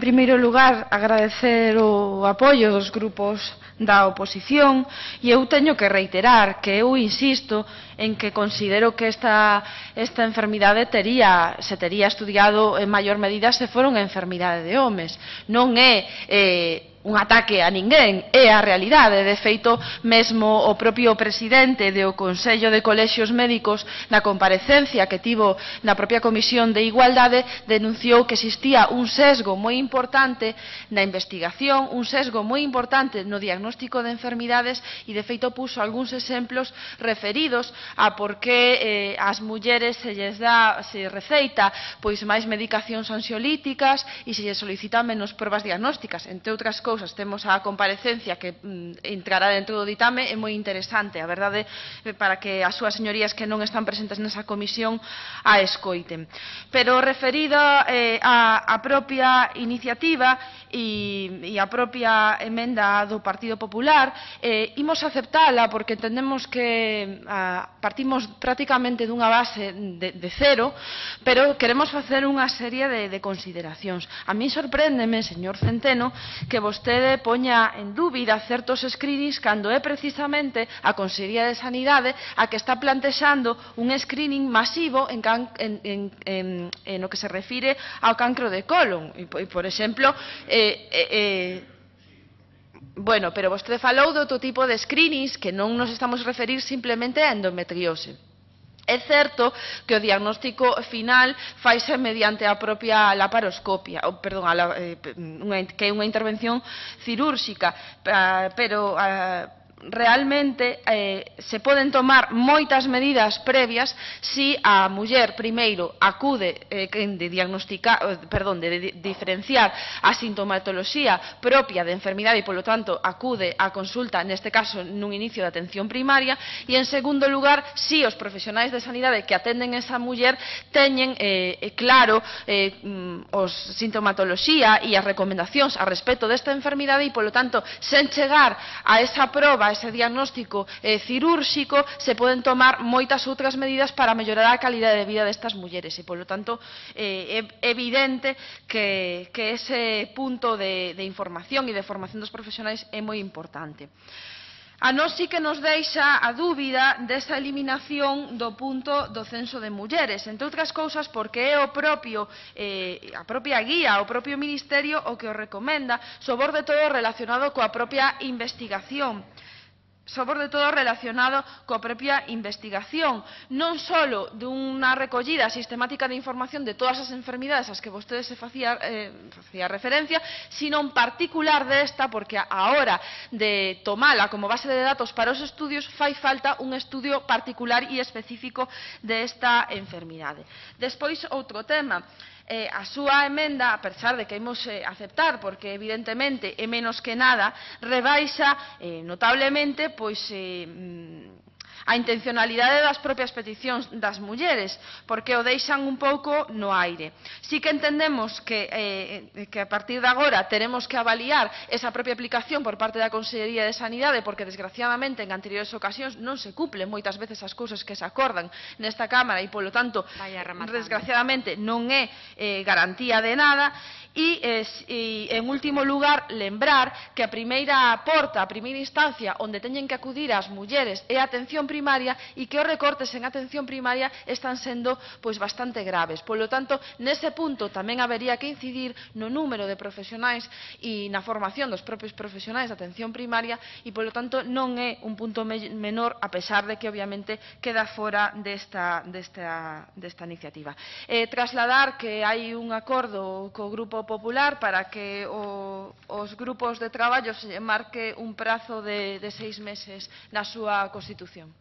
En primeiro lugar, agradecer o apoio dos grupos da oposición e eu teño que reiterar que eu insisto en que considero que esta enfermidade se tería estudiado en maior medida se fora unha enfermidade de homes. Non é un ataque a ninguén, é a realidade. De feito, mesmo o propio presidente do Consello de Colexios Médicos, na comparecencia que tivo na propia Comisión de Igualdade, denunciou que existía un sesgo moi importante na investigación, un sesgo moi importante no diagnóstico de enfermidades e, de feito, puso algúns exemplos referidos a por que ás mulleres se receita pois máis medicacións ansiolíticas e se lles solicita menos probas diagnósticas. Entre outras cousas, temos a comparecencia que entrará dentro do ditame, é moi interesante, a verdade, para que as súas señorías que non están presentes nesa comisión a escoiten. Pero referida á propia iniciativa e a propia emenda do Partido Popular, imos aceptala porque entendemos que partimos prácticamente dunha base de cero, pero queremos facer unha serie de consideracións. A mí sorpréndeme, señor Centeno, que vostede poña en dúbida certos screenings cando é precisamente a Consellería de Sanidade a que está plantexando un screening masivo no que se refire ao cancro de colon. E, por exemplo, bueno, pero vostede falou de outro tipo de screenings que non nos estamos a referir simplemente a endometriose. É certo que o diagnóstico final faise mediante a propia laparoscopia, que é unha intervención cirúrxica, pero realmente se poden tomar moitas medidas previas se a muller primeiro acude de diferenciar a sintomatoloxía propia de enfermidade e, polo tanto, acude á consulta, neste caso, nun inicio de atención primaria, e, en segundo lugar, se os profesionais de sanidade que atenden esa muller teñen claro os sintomatoloxía e as recomendacións a respecto desta enfermidade e, polo tanto, sen chegar a esa proba, ese diagnóstico cirúrxico, se poden tomar moitas outras medidas para mellorar a calidade de vida destas mulleres e, polo tanto, é evidente que ese punto de información e de formación dos profesionais é moi importante. A nós sí que nos deixa a dúbida desa eliminación do punto do censo de mulleres, entre outras cousas porque é a propia guía, o propio Ministerio o que o recomenda, sobre todo relacionado coa propia investigación. Non só dunha recollida sistemática de información de todas as enfermidades ás que vostede se facía referencia, sino en particular desta, porque a hora de tomala como base de datos para os estudios fai falta un estudio particular e específico desta enfermidade. Despois, outro tema. A súa emenda, a pesar de que imos aceptar, porque evidentemente é menos que nada, rebaixa notablemente a intencionalidade das propias peticións das mulleres, porque o deixan un pouco no aire. Sí que entendemos que a partir de agora teremos que avaliar esa propia aplicación por parte da Consellería de Sanidade, porque desgraciadamente en anteriores ocasións non se cumplen moitas veces as cousas que se acordan nesta Cámara e, polo tanto, desgraciadamente non é garantía de nada. E, en último lugar, lembrar que a primeira porta, a primeira instancia onde teñen que acudir as mulleres é a atención primaria e que os recortes en atención primaria están sendo bastante graves. Polo tanto, nese punto tamén habería que incidir no número de profesionais e na formación dos propios profesionais de atención primaria e, polo tanto, non é un punto menor, a pesar de que, obviamente, queda fora desta iniciativa. Trasladar que hai un acordo co Grupo Popular para que os grupos de traballo se marque un prazo de 6 meses na súa Constitución.